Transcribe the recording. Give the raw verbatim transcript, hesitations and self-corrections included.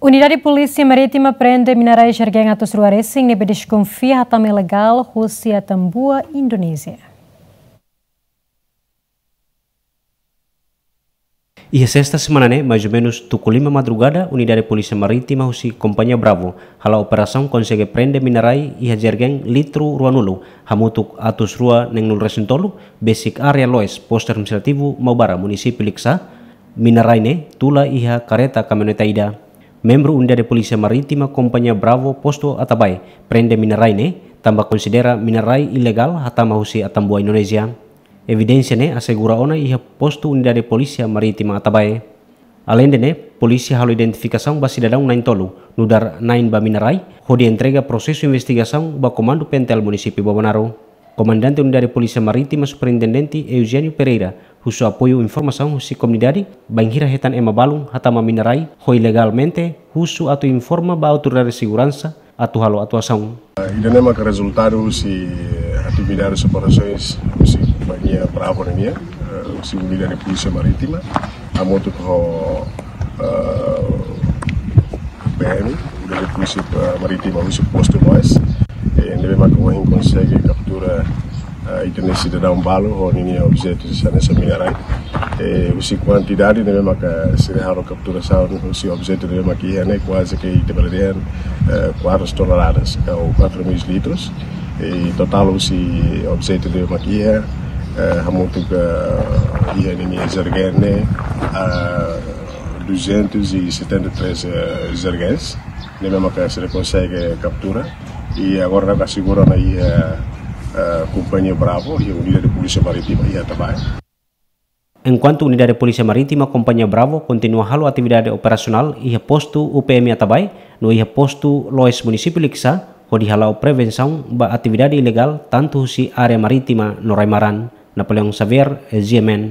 Unidade Polísia Marítima prende minarai jergen atus rua resin ne'ebé deskonfia hatama ilegál husi Atambua, Indonézia. Iha sesta semana ne'e, mais ou menus tuku lima madrugada, Unidade Polísia Marítima husi Kompañia Bravo hala'o operasaun konsege prende minarai iha jergen litru ruanulu, hamutuk atus rua neenulu resin tolu, besik área Loes, Postu Administrativu Maubara, Munisípiu Likisá. Minarai ne'e tula iha kareta kamioneta ida. Membru Unidade Polísia Marítima Kompañia Bravo Postu Atabae prende minarai ne'e, tanba konsidera minarai ilegál hatama husi Atambua, Indonézia. Evidénsia ne'e asegura ona iha postu Unidade Polísia Marítima Atabae. Aleinde ne'e, polísia halo identifikasaun ba sidadaun na'in tolu, nu'udar na'in ba minarai, hodi entrega prosesu investigasaun ba Komandu P N T L Munisípiu Bobonaro. Komandante Unidade Polísia Marítima Superintendente Eugênio Pereira husu apoiu informasaun husi komunidade, bainhira hetan ema balun hatama minarai ho ilegalmente, husu atu informa ba autoridade seguransa atu halo atuasaun. Ida-ne'e maka rezultadu husi atividade operasaun husi Kompañia Bravo nian, eh, husi Unidade Polísia Marítima, hamutuk ho, eh, P M, Unidade Polísia, eh, Marítima, husi Postu Loes, eh, ne'ebé maka ohin konsege kaptura, eh, ita-nia sidadaun balu ho ninia objetu hanesan minarai. Eh, husi kuantidade ne'ebé maka sira halo kapturasaun husi objetu ne'ebé maka iha ne'e kuaze ke ita bele dehan, eh, kuatru toneladas, ka quatro mil litros. Eh, totál husi objetu ne'ebé maka iha, eh, hamutuk, eh, iha ninia jergen ne'e, ah, duzentos e setenta e três, eh, jergens, ne'ebé maka sira konsege kaptura. I agora ne'e asegura ona iha, eh, Kompañia Bravo, iha Unidade Polísia Marítima iha Atabae. Enkuantu Unidade Polísia Marítima Kompañia Bravo kontinua halo atividade operasionál iha postu U P M Atabae, no iha postu Loes Munisípiu Likisá, hodi hala'o prevensaun ba atividade ilegál tantu husi área marítima no rai-maran. Napoleão Xavier, G M N.